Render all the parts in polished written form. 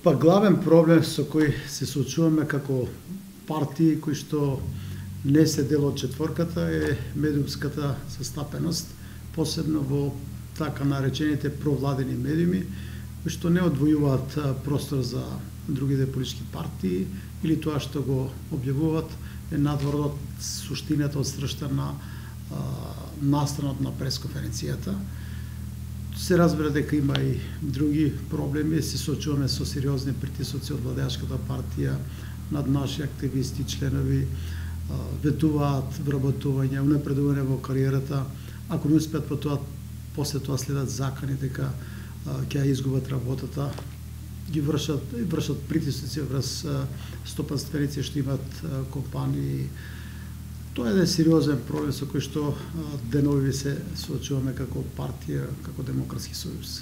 Па главен проблем со кој се соочуваме како партии кои што не се дел од четворката е медиумската застапеност, посебно во така наречените провладени медиуми, кои што не одвојуваат простор за другите политички партии или тоа што го објавуваат е надвор од суштината, од сршта на настанот на пресконференцијата. Се разбира дека има и други проблеми, се соочуваме со сериозни притисоци од владеачката партија над наши активисти, членови, ветуваат вработување, унапредување во кариерата. Ако не успеат по тоа, после тоа следат закани дека ќе ја изгубат работата, ги вршат притисоци врз стопанственици што имаат компании. Тоа е еден сериозен проблем со кој што денови се соочуваме како партија, како Демократски сојуз.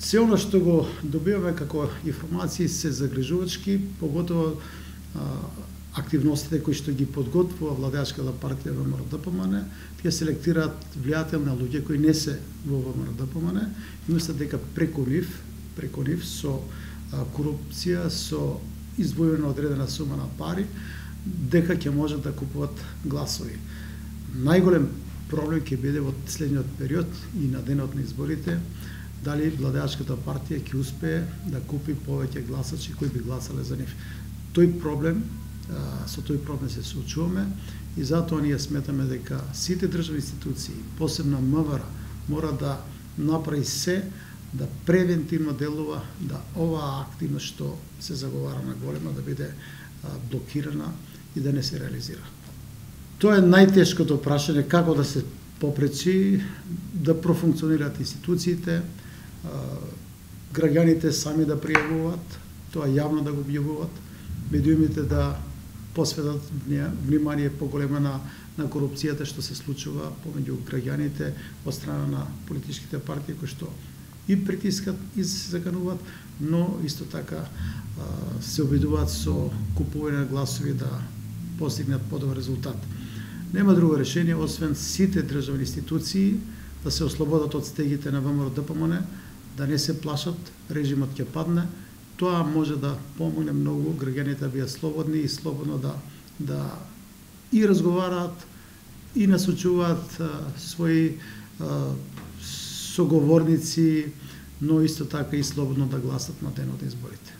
Се она што го добиваме како информации се загрижувачки, поготово активностите кои што ги подготвува владеачката партија ВМРО-ДПМН, тие селектираат влијателни луѓе кои не се во ВМРО-ДПМН и мислат дека преку нив со корупција, со издвојена одредена сума на пари, дека ќе можат да купуват гласови. Најголем проблем ќе биде во следниот период и на денот на изборите, дали владеачката партија ќе успее да купи повеќе гласачи кои би гласале за нив. Со тој проблем се соочуваме и затоа ние сметаме дека сите државни институции, посебно МВР, мора да направи се да превентивно делува, да оваа активност што се заговара на голема да биде блокирана и да не се реализира. Тоа е најтешкото прашање, како да се попречи да профункционираат институциите, граѓаните сами да пријавуваат, тоа јавно да го објавуваат, медиумите да посветат внимание поголема на корупцијата што се случува помеѓу граѓаните од страна на политичките партии кои што и притискат и се закануваат, но исто така се обидуваат со купување на гласови да постигнат подобар резултат. Нема друго решение освен сите државни институции да се ослободат од стегите на ВМРО-ДПМН, да не се плашат, режимот ќе падне. Тоа може да помогне многу граѓаните да бидат слободни и слободно да и разговараат и насочуваат своји соговорници, но исто така и слободно да гласат на денот на изборите.